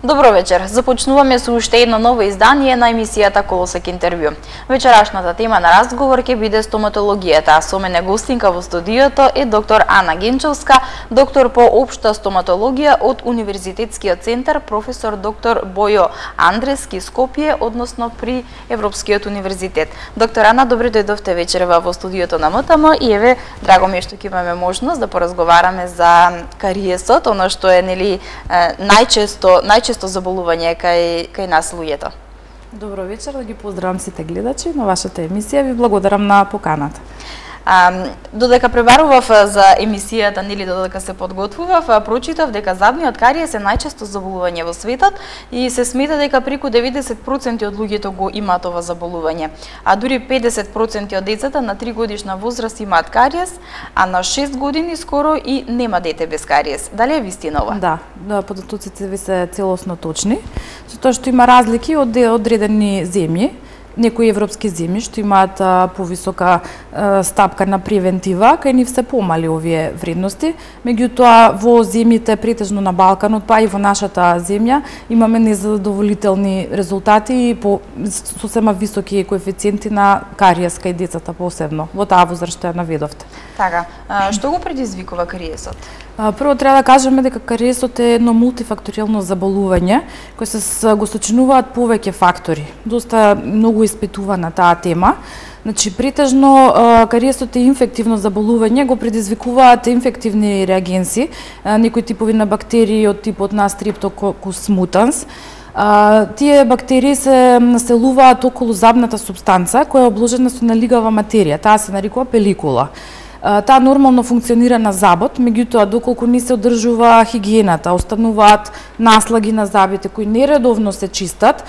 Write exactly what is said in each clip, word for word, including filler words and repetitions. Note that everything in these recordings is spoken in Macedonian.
Добро вечер. Започнуваме со уште едно ново издание на емисијата Колосек интервју. Вечерашната тема на разговор ќе биде стоматологијата. Со мене гостинка во студиото е доктор Ана Генчовска, доктор по општа стоматологија од Универзитетскиот центар професор доктор Бојо Андрески Скопје, односно при Европскиот универзитет. Доктор Ана, добре дојдовте вечерва во студиото на МТМ и еве, драго ми е што ќе имаме можност да поразговараме за кариесот, оно што е нели најчесто најчесто заболување кај кај нас луѓето. Добро вечер, да ги поздравам сите гледачи на вашата емисија, ви благодарам на поканата. А, додека пребарував за емисијата, нели додека се подготвував, прочитав дека зубниот кариес е најчесто заболување во светот и се смета дека преку деветдесет проценти од луѓето го имаат ова заболување. А дури педесет проценти од децата на три годишна возраст имаат кариес, а на шест години скоро и нема дете без кариес. Дали е вистина ова? Да, да, податоците ви се целосно точни, со тоа што има разлики од одредени земји. Некои европски земји што имаат а, повисока а, стапка на превентива, кај нив се помали овие вредности, меѓутоа во земјите претежно на Балканот, па и во нашата земја, имаме незадоволителни резултати и по сосема високи коефициенти на кариес кај децата посебно, во таа возраст што ја наведовте. Така, а, што го предизвикува кариесот? Прво треба да кажеме дека кариесот е едно мултифакторијално заболување кој се го сочинуваат повеќе фактори. Доста многу испитувана таа тема. Значи, претежно кариесот е инфективно заболување, го предизвикуваат инфективни реагенси, некои типови на бактерии од типот на Streptococcus mutans. Тие бактерии се населуваат околу забната супстанца која е обложена со налигава материја, таа се нарекува пеликула. Таа нормално функционира на забот, меѓутоа доколку не се одржува хигиената, остануваат наслаги на забите кои нередовно се чистат,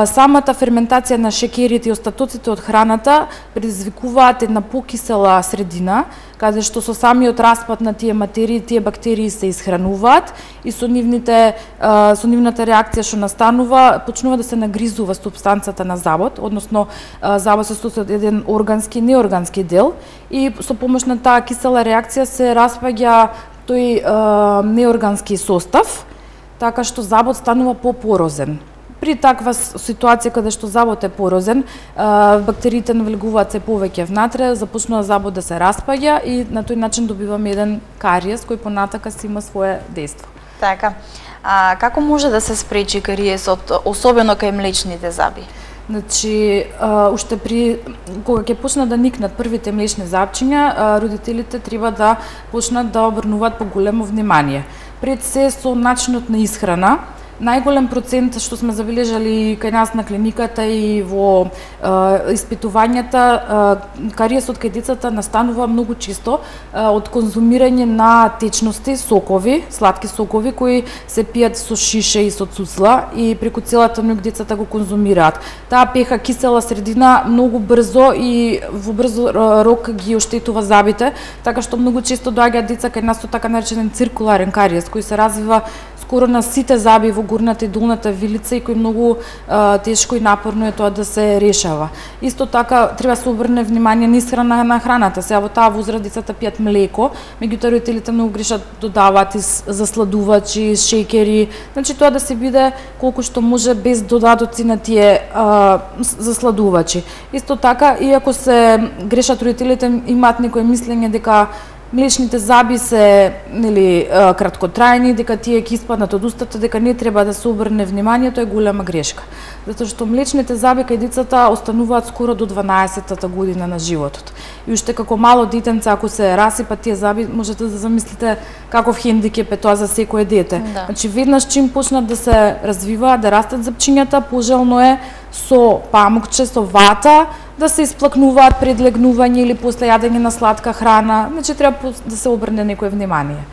самата ферментација на шекерите и остатоците од храната предизвикуваат една покисела средина, каде што со самиот распад на тие материи, тие бактерии се исхрануваат и со нивните со нивната реакција што настанува, почнува да се нагризува супстанцата на забот, односно забот се состои од еден органски и неоргански дел и со помош на таа кисела реакција се распаѓа тој неоргански состав, така што забот станува попорозен. При таква ситуација каде што забот е порозен, бактериите навлегуваат се повеќе внатре, започнува забот да се распаѓа и на тој начин добиваме еден кариес кој понатака си има свое дејство. Така. А како може да се спречи кариесот, особено кај млечните заби? Значи, уште при кога ќе почнат да никнат првите млечни забчиња, родителите треба да почнат да обрнуваат поголемо внимание. Пред се со начинот на исхрана, најголем процент што сме забележали кај нас на клиниката и во е, испитувањата, е, кариесот кај децата настанува многу често е, од конзумирање на течности, сокови, сладки сокови кои се пијат со шише и со цуцла и преку целата ноќ децата го конзумираат. Таа пеха кисела средина многу брзо и во брзо рок ги оштетува забите, така што многу често доаѓаат деца кај нас со така наречен циркуларен кариес кој се развива скоро на сите заби во горната и долната вилица и кој многу а, тешко и напорно е тоа да се решава. Исто така треба се обрне внимание на исхрана на храната. Сега во таа возраст децата пијат млеко, меѓутоа родителите многу грешат, додаваат и засладувачи, шеќери. Значи тоа да се биде колку што може без додатоци на тие а, засладувачи. Исто така, иако се грешат родителите, имаат некое мислење дека млечните заби се нели краткотрајни, дека тие ќе испаднат од устата, дека не треба да се обрне внимание, тоа е голема грешка. Затоа што млечните заби кај децата остануваат скоро до дванаесеттата година на животот. И уште како мало детенце ако се расипат тие заби, можете да замислите каков хендикеп е тоа за секое дете. Да. Значи веднаш чим почнат да се развиваат, да растат запчињата, пожелно е со памукче, со вата, да се исплакнуваат пред легнување или после јадење на сладка храна, значи треба да се обрне некое внимание.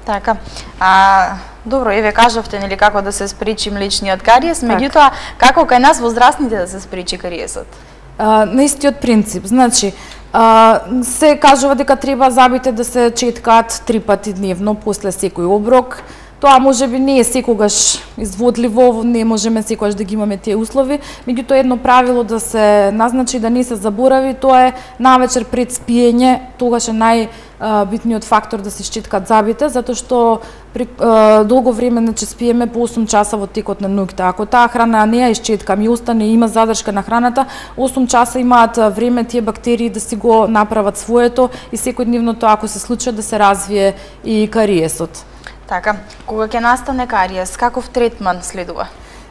Така. А добро, еве кажавте нели како да се спречи млечниот кариес, меѓутоа како кај нас возрастните да се спречи кариесот? А, на истиот принцип, значи а, се кажува дека треба забите да се четкаат три пати дневно после секој оброк. Тоа можеби не е секогаш изводливо, не можеме секогаш да ги имаме тие услови, меѓутоа едно правило да се назначи да не се заборави, тоа е навечер пред спиење, тогаш е најбитниот фактор да се шчиткат зъбите, затоа што при е, долго време значи спиеме по осум часа во текот на ноќта. Ако таа храна не ја исчеткаме и остане има задршка на храната, осум часа имаат време тие бактерии да си го направат своето и секојдневно тоа ако се случи да се развие и кариесот. Така, кога ќе настане кариес, каков третман следува?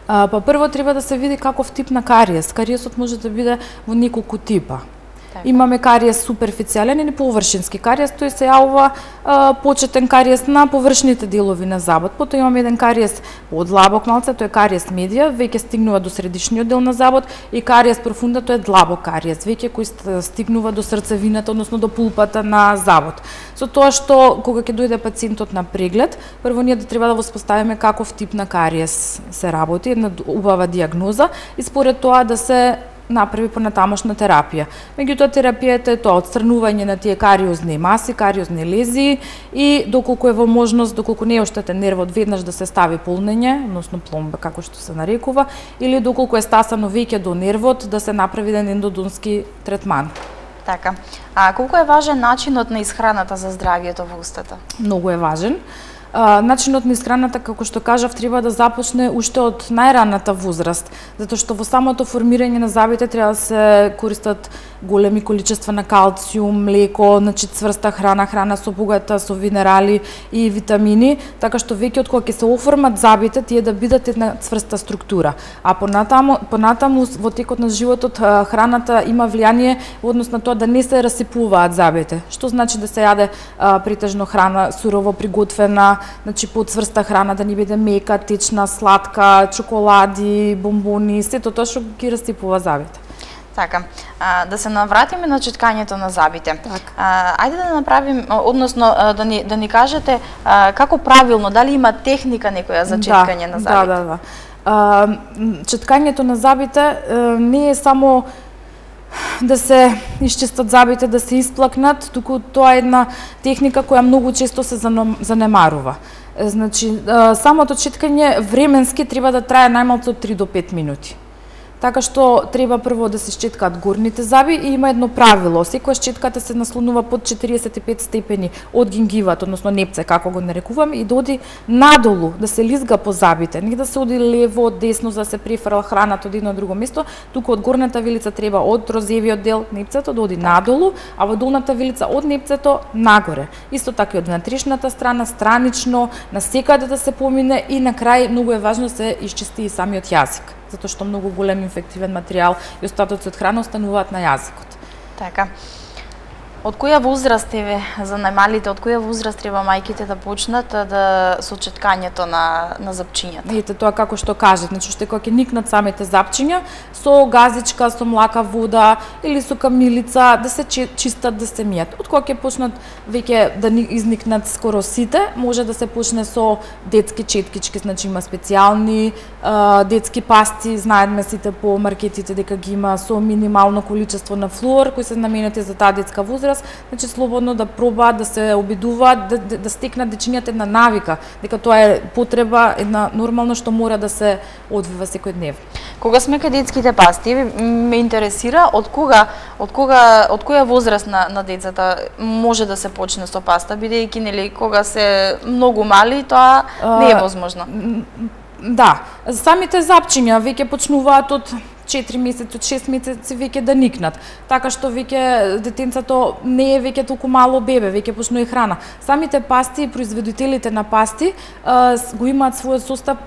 А, па прво треба да се види каков тип на кариес. Кариесот може да биде во неколку типа. Така. Имаме кариес суперфицијален или површински кариес, тој се јавува а, почетен кариес на површните делови на забот. Потоа имаме еден кариес подлабок малце, тој е кариес медија, веќе стигнува до средишниот дел на забот, и кариес профунда, тој е длабок кариес, веќе кој стигнува до срцевината, односно до пулпата на забот. Со тоа што кога ќе дојде пациентот на преглед, прво ние да треба да воспоставиме каков тип на кариес се работи, една убава дијагноза и според тоа да се направи понатамошна терапија. Меѓутоа терапијата е тоа отстранување на тие кариозни маси, кариозни лезии и доколку е во можност, доколку не е оштетен нервот, веднаш да се стави полнење, односно пломба како што се нарекува, или доколку е стасано веќе до нервот, да се направи еден ендодонски третман. Така. А колку е важен начинот на исхраната за здравието во устата? Многу е важен. А, начинот на исхраната, како што кажав, треба да започне уште од најраната возраст, затоа што во самото формирање на зъбите треба да се користат големи количества на калциум, млеко, значи цврста храна, храна со богата со минерали и витамини, така што веќе од кога ќе се оформат зъбите, тие да бидат една цврста структура. А понатаму, понатаму во текот на животот храната има влијание во однос на тоа да не се расипуваат зъбите. Што значи да се јаде а, претежно храна сурово приготвена, значи поцврста храна, да не биде мека, течна, сладка, чоколади, бомбони, сето тоа што ги расипува зъбите. Така, а, да се навратиме на читкањето на зъбите. Так. А, ајде да направим, односно да ни да ни кажете а, како правилно, дали има техника некоја за читкање да, на зъбите? Да, да, да. А, читкањето на зъбите а, не е само да се исчистат зъбите, да се исплакнат, туку тоа е една техника која многу често се занемарува. Значи, самото читкање временски треба да трае најмалку од три до пет минути. Така што треба прво да се счеткаат горните зъби и има едно правило. Секоја счетката се наслонува под четириесет и пет степени од гингиват, односно непце, како го нарекуваме, и да оди надолу, да се лизга по зъбите. Не да се оди лево, десно, за да се префрла храната од едно друго место, туку од горната вилица треба од розевиот дел непцето да оди надолу, а во долната вилица од непцето нагоре. Исто така и од внатрешната страна, странично, насекаде да се помине и на крај многу е важно да се исчисти и самиот јазик, затоа што многу голем инфективен материјал и остатоци од храна остануваат на јазикот. Така. Од која возраст еве за најмалите, од која возраст треба мајките да почнат да со читкањето на на зъбчињата? Ете тоа како што кажат, значи што кога ќе никнат самите зъбчиња со газичка, со млака вода или со камилица да се чистат, да се мијат. Од кога ќе почнат веќе да изникнат скоро сите, може да се почне со детски четкички, значи има специјални а, детски пасти, знаеме сите по маркетите дека ги има со минимално количество на флуор кои се наменети за таа детска возраст. Значи слободно да пробаат, да се обидуваат, да, да, да стекнат дечињата една навика, дека тоа е потреба, една нормално што мора да се одвива секојдневно. Кога сме кај детските пасти, ме интересира од кога, од кога, од која возраст на на децата може да се почне со паста, бидејќи нели кога се многу мали, тоа не е возможно. Да, самите зъбчиња веќе почнуваат од четири месеци, од шест месеци веќе да никнат. Така што веќе детенцето не е веќе толку мало бебе, веќе почнува и храна. Самите пасти и производителите на пасти а, го имаат својот состав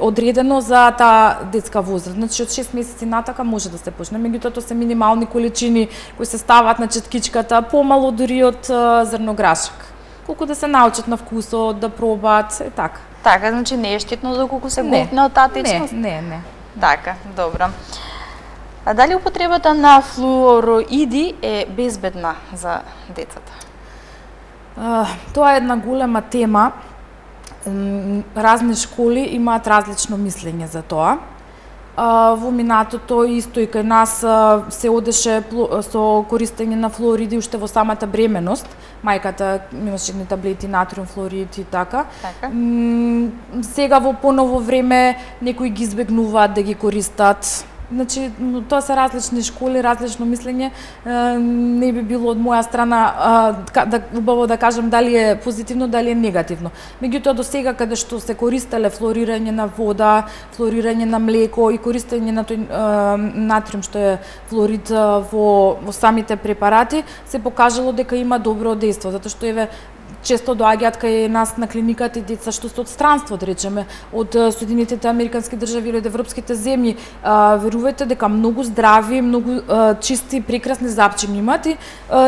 одредено за таа детска возраст. Значи од шест месеци натака може да се почне, меѓутоа тоа се минимални количини кои се ставаат на четкичката, помало дури од зрнограшак. Колку да се научат на вкусот, да пробаат, е така. Така, значи не е штетно доколку се голтне од таа течност? Не, не, не. Така, добро. А дали употребата на флуороиди е безбедна за децата? А, тоа е една голема тема. Разни школи имаат различно мислење за тоа. А, во минатото исто и кај нас се одеше со користење на флуориди уште во самата бременост. мајката имаше едни таблети натриум флорид и така. Така. М, сега во поново време некои ги избегнуваат да ги користат. Значи, тоа се различни школи, различно мислење. Не би било од моја страна да убаво да кажам дали е позитивно, дали е негативно. Меѓутоа до сега каде што се користеле флорирање на вода, флорирање на млеко и користење на тој натриум што е флорид во во самите препарати, се покажало дека има добро дејство, затоа што еве често доаѓаат кај нас на клиниката и деца што се од странство, да речеме, од Соединетите американски држави или од европските земји. Верувајте дека многу здрави, многу чисти, прекрасни запчини имаат и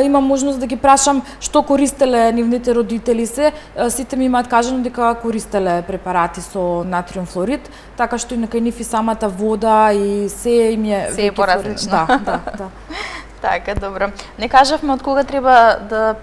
имам можност да ги прашам што користеле нивните родители се, сите ми имаат кажано дека користеле препарати со натриум флорид, така што и кај нив и самата вода и се им е се е поразлично. Да, да, да. Така, добро. Не кажавме од кога треба да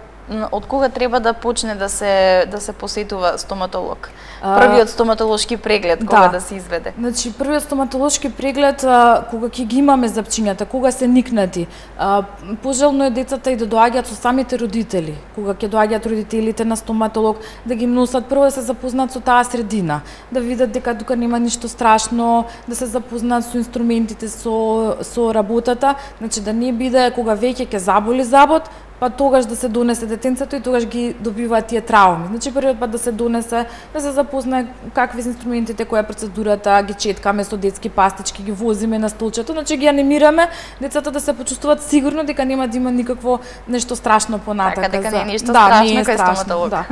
од кога треба да почне да се да се посетува стоматолог? Првиот стоматолошки преглед кога да, да се изведе? Значи првиот стоматолошки преглед а, кога ќе ги имаме запчињата, кога се никнати. А, пожелно е децата и да доаѓаат со самите родители, кога ќе доаѓаат родителите на стоматолог, да ги носат прво да се запознаат со таа средина, да видат дека тука нема ништо страшно, да се запознаат со инструментите, со со работата, значи да не биде кога веќе ќе заболи забот, па тогаш да се донесе детенцето и тогаш ги добиваат тие трауми. Значи првиот пат да се донесе, да се запознае какви се инструментите, која е процедурата, ги четкаме со детски пастички, ги возиме на столчето, значи ги анимираме децата да се почувствуваат сигурно дека нема да има никакво нешто страшно понатака. Така, дека не е ништо да, страшно не е кај страшно, стоматолог. Да.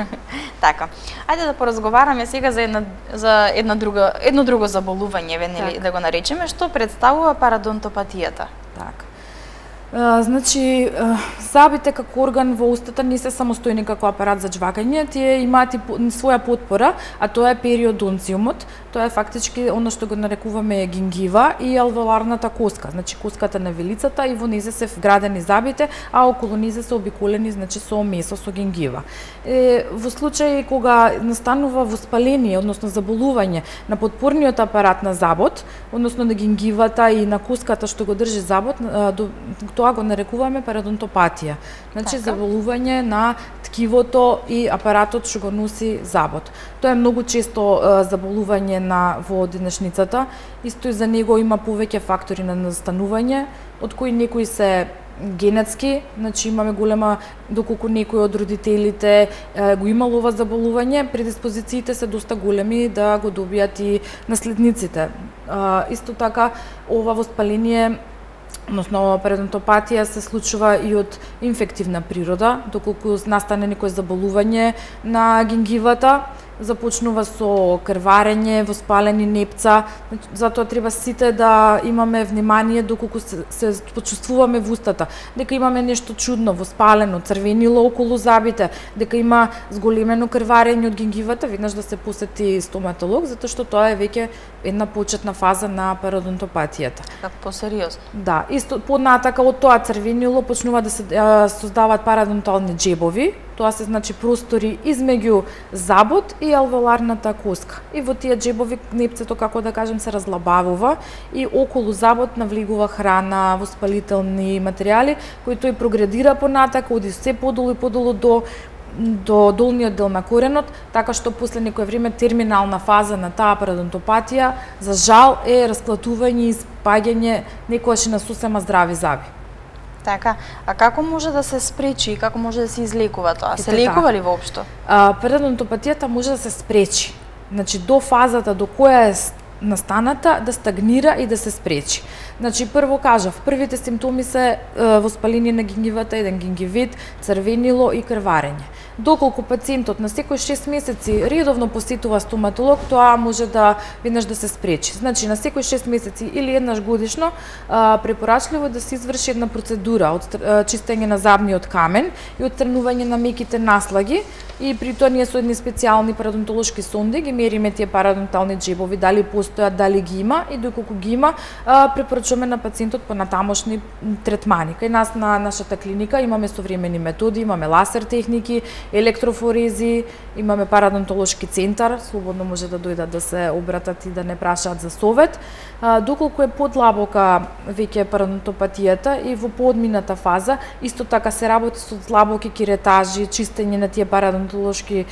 Така. Ајде да поразговараме сега за една за една друга едно друго заболување, нели, да го наречеме, што представува парадонтопатијата. Така. Uh, значи, uh, забите како орган во устата не се самостојни како апарат за жвакање, тие имаат и своја потпора, а тоа е периодонциумот. Тоа е фактички оно што го нарекуваме гингива и алвеоларната коска, значи коската на вилицата и во незе се вградени забите, а околу незе се обиколени, значи со месо, со гингива. Е, во случај кога настанува воспаление, односно заболување на потпорниот апарат на забот, односно на гингивата и на коската што го држи забот, тоа го нарекуваме парадонтопатија. Значи така, заболување на ткивото и апаратот што го носи забот. Тоа е многу често е, заболување на во денешницата. Исто и за него има повеќе фактори на настанување, од кои некои се генетски, значи имаме голема, доколку некој од родителите е, го имало ова заболување, предиспозициите се доста големи да го добијат и наследниците. А, исто така, ова воспаление, односно парадонтопатија, се случува и од инфективна природа, доколку настане некој заболување на гингивата, започнува со крварење, воспалени непца, затоа треба сите да имаме внимание доколку се, се почувствуваме во устата, дека имаме нешто чудно, воспалено, црвенило околу забите, дека има зголемено крварење од гингивата, веднаш да се посети стоматолог, затоа што тоа е веќе една почетна фаза на парадонтопатијата. Како посериозно? Да, исто поднатака од тоа црвенило почнува да се а, создаваат парадонтални џебови. Тоа се значи простори измеѓу забот и алвеоларната коска. И во тие џебови непцето, како да кажем, се разлабавува и околу забот навлегува храна, воспалителни материјали, кои тој прогредира понатака, оди се подолу и подолу до до долниот дел на коренот, така што после некое време терминална фаза на таа парадонтопатија, за жал, е расклатување и спаѓање некојаш и на сосема здрави заби. Така, а како може да се спречи и како може да се излекува тоа? Се лекува ли воопшто? А, парадонтопатијата може да се спречи. Значи до фазата до која е настаната да стагнира и да се спречи. Значи прво кажав, првите симптоми се е, воспаление на гингивата, еден гингивит, црвенило и крварење. Доколку пациентот на секој шест месеци редовно посетува стоматолог, тоа може да веднаш да се спречи. Значи на секој шест месеци или еднаш годишно а, препорачливо да се изврши една процедура од чистење на забниот камен и отстранување на меките наслаги, и при тоа ние со едни специјални парадонтолошки сонди ги мериме тие парадонтални џебови, дали постојат, дали ги има, и доколку ги има, а, препорачуваме на пациентот понатамошни третмани. Кај нас на нашата клиника имаме современи методи, имаме ласер техники, електрофорези, имаме парадонтолошки центар, слободно може да дојдат да се обратат и да не прашаат за совет. Доколку е подлабока веќе парадонтопатијата и во поодмината фаза, исто така се работи со длабоки керетажи, чистење на тие парадонтолошки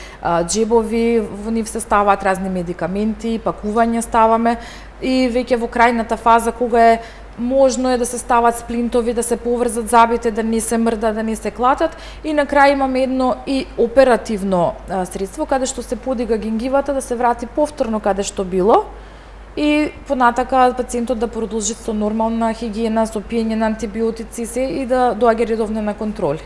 џебови, во нив се ставаат разни медикаменти, пакување ставаме и веќе во крајната фаза кога е можно е да се стават сплинтови, да се поврзат забите, да не се мрда, да не се клатат и на крај имаме едно и оперативно а, средство каде што се подига гингивата да се врати повторно каде што било и понатака пациентот да продолжи со нормална хигиена, со пиење на антибиотици се и да доаѓа редовно на контроли.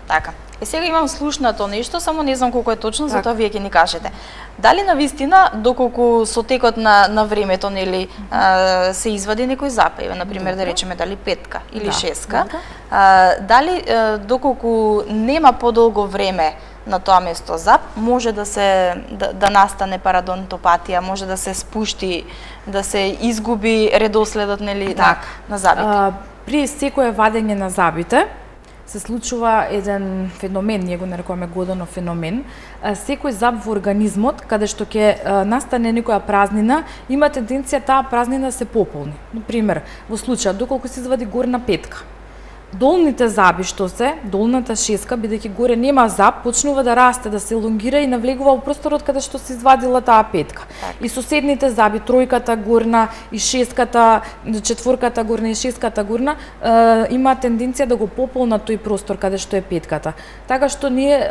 Така. И сега имам слушнато нешто, само не знам колку е точно, так. Затоа вие ќе ни кажете. Дали навистина доколку со текот на на времето нели а, се извади некој запеј, на пример да речеме дали петка или да. шестка, а, дали а, доколку нема подолго време на тоа место зап, може да се да, да настане парадонтопатија, може да се спушти, да се изгуби редоследот нели на, на забите. А, при секое вадење на забите се случува еден феномен, ние го нарекуваме Годонов феномен. Секој зап во организмот, каде што ќе настане некоја празнина, има тенденција таа празнина се пополни. Например, во случајот доколку се извади горна петка, долните заби што се, долната шеска, бидејќи горе нема зап, почнува да расте, да се елонгира и навлегува во просторот каде што се извадила таа петка. Так. И соседните заби, тројката горна и шеската, четворката горна и шеската горна, е, има тенденција да го пополнат тој простор каде што е петката. Така што ние е,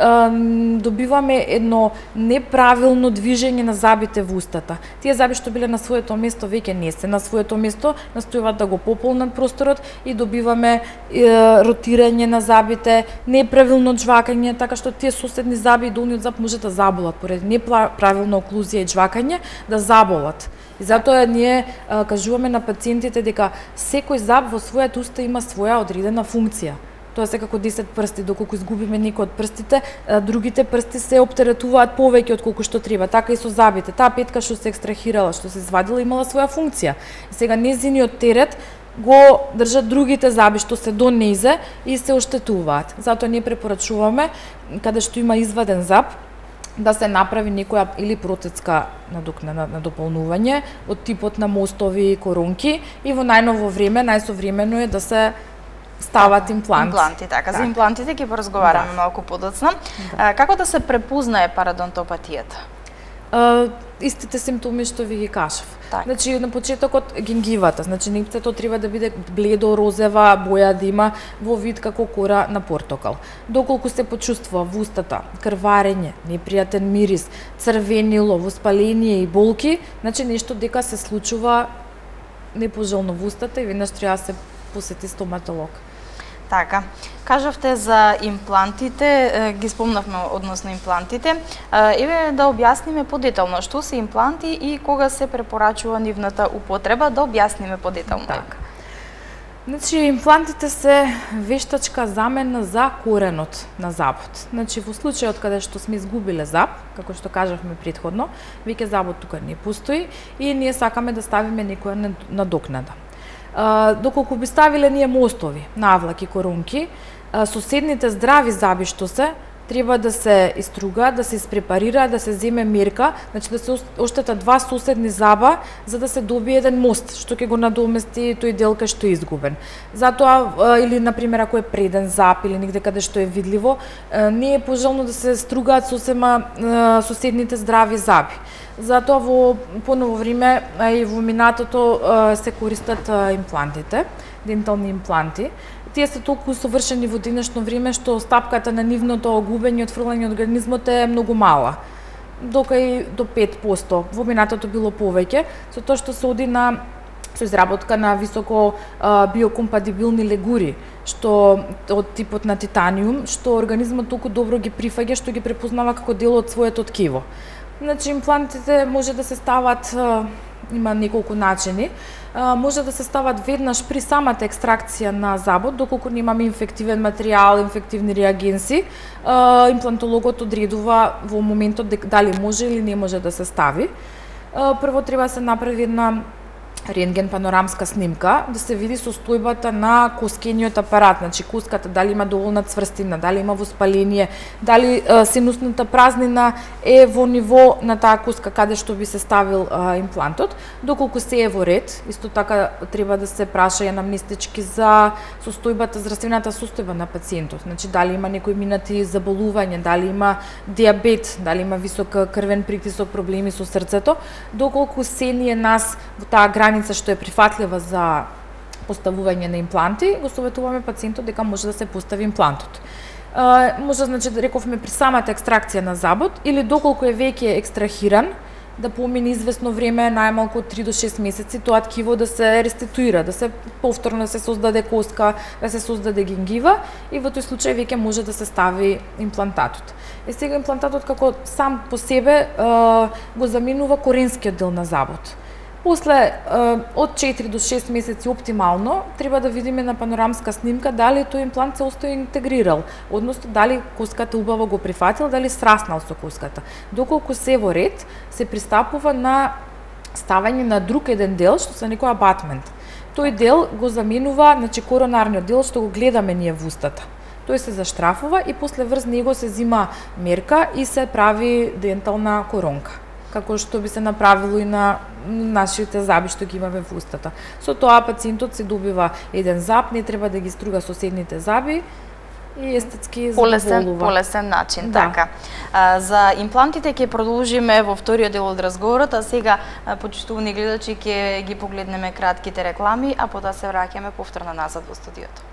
добиваме едно неправилно движење на забите во устата. Тие заби што биле на своето место веќе не се на своето место, настојуваат да го пополнат просторот и добиваме е, ротирање на забите, неправилно џвакање, така што тие соседни заби и долниот зап може да заболат поради неправилна оклузија и џвакање, да заболат. И затоа ние а, кажуваме на пациентите дека секој зап во својата уста има своја одредена функција. Тоа се како десет прсти, доколку изгубиме некој од прстите, другите прсти се оптеретуваат повеќе од колку што треба. Така и со забите. Таа петка што се екстрахирала, што се извадила, имала своја функција. И сега незиниот терет го држат другите заби што се до нејзе и се оштетуваат. Затоа ние препорачуваме каде што има изваден зап да се направи некоја или протетска надокнада на дополнување од типот на мостови, коронки и во најново време, најсовремено е да се стават импланти. Импланти, така. Так. За имплантите ќе поразговараме да. малку подоцна. Да. Како да се препознае парадонтопатијата? Uh, истите симптоми што ви ги кажав. Так. Значи на почетокот гингивата, значи нипцето треба да биде бледо розева боја да има во вид како кора на портокал. Доколку се почувствува во устата крварење, непријатен мирис, црвенило, воспаление и болки, значи нешто дека се случува непожелно во устата и веднаш треба да се посети стоматолог. Така, кажавте за имплантите, ги спомнавме односно имплантите. Еве да објасниме подетално што се импланти и кога се препорачува нивната употреба, да објасниме подетално. Така. Значи, имплантите се вештачка замена за коренот на забот. Значи, во случајот каде што сме изгубиле заб, како што кажавме претходно, веќе забот тука не постои и ние сакаме да ставиме некоја надокнада. Uh, доколку би ставиле ние мостови, навлаки, коронки, uh, соседните здрави заби што се, треба да се истругаат, да се испрепарираат, да се земе мерка, значи да се оштетат два соседни заба за да се добие еден мост што ќе го надомести тој дел кај што е изгубен. Затоа или на пример ако е преден зап или негде каде што е видливо, не е пожелно да се стругаат сосема соседните здрави заби. Затоа во поново време и во минатото се користат имплантите, дентални импланти. Тие се толку совршени во денешно време што стапката на нивното губење и отфрлање од организмот е многу мала. Дока и до пет проценти, во минатото било повеќе, со тоа што се оди на со изработка на високо а, биокомпатибилни легури, што од типот на титаниум, што организмот толку добро ги прифаќа што ги препознава како дел од своето ткиво. Значи имплантите може да се стават, има неколку начини, може да се стават веднаш при самата екстракција на забот, доколку немаме инфективен материјал, инфективни реагенси, имплантологот одредува во моментот дали може или не може да се стави. Прво треба да се направи една рентген панорамска снимка, да се види состојбата на коскениот апарат, значи коската дали има доволна цврстина, дали има воспаление, дали е, синусната празнина е во ниво на таа коска каде што би се ставил е, имплантот, доколку се е во ред. Исто така треба да се праша и анамнестички за состојбата, здравствената состојба на пациентот, значи дали има некои минати заболување, дали има диабет, дали има висок крвен притисок, проблеми со срцето, доколку се ние нас во таа граница што е прифатлива за поставување на импланти, го советуваме пациентот дека може да се постави имплантот. Е, може, значи, да рековме при самата екстракција на забот, или доколку е веќе екстрахиран, да помине известно време, најмалку од три до шест месеци, тоа ткиво да се реституира, да се повторно да се создаде коска, да се создаде гингива и во тој случај веќе може да се стави имплантатот. Е сега имплантатот како сам по себе е, го заменува коренскиот дел на забот. После од четири до шест месеци оптимално треба да видиме на панорамска снимка дали тој имплант се остои интегрирал, односно дали коската убаво го прифатил, дали сраснал со коската. Доколку се во ред, се пристапува на ставање на друг еден дел што се некој абатмент. Тој дел го заменува, значи коронарниот дел што го гледаме ние во устата. Тој се заштрафува и после врз него се зима мерка и се прави дентална коронка, како што би се направило и на нашите заби што ги имаме во устата. Со тоа пациентот се добива еден заб, не треба да ги струга соседните заби и естетски задоволува. Полесен начин, да. Така. А, за имплантите ќе продолжиме во вториот дел од разговорот, а сега, почитувани гледачи, ќе ги погледнеме кратките реклами, а потоа се враќаме повторно назад во студиото.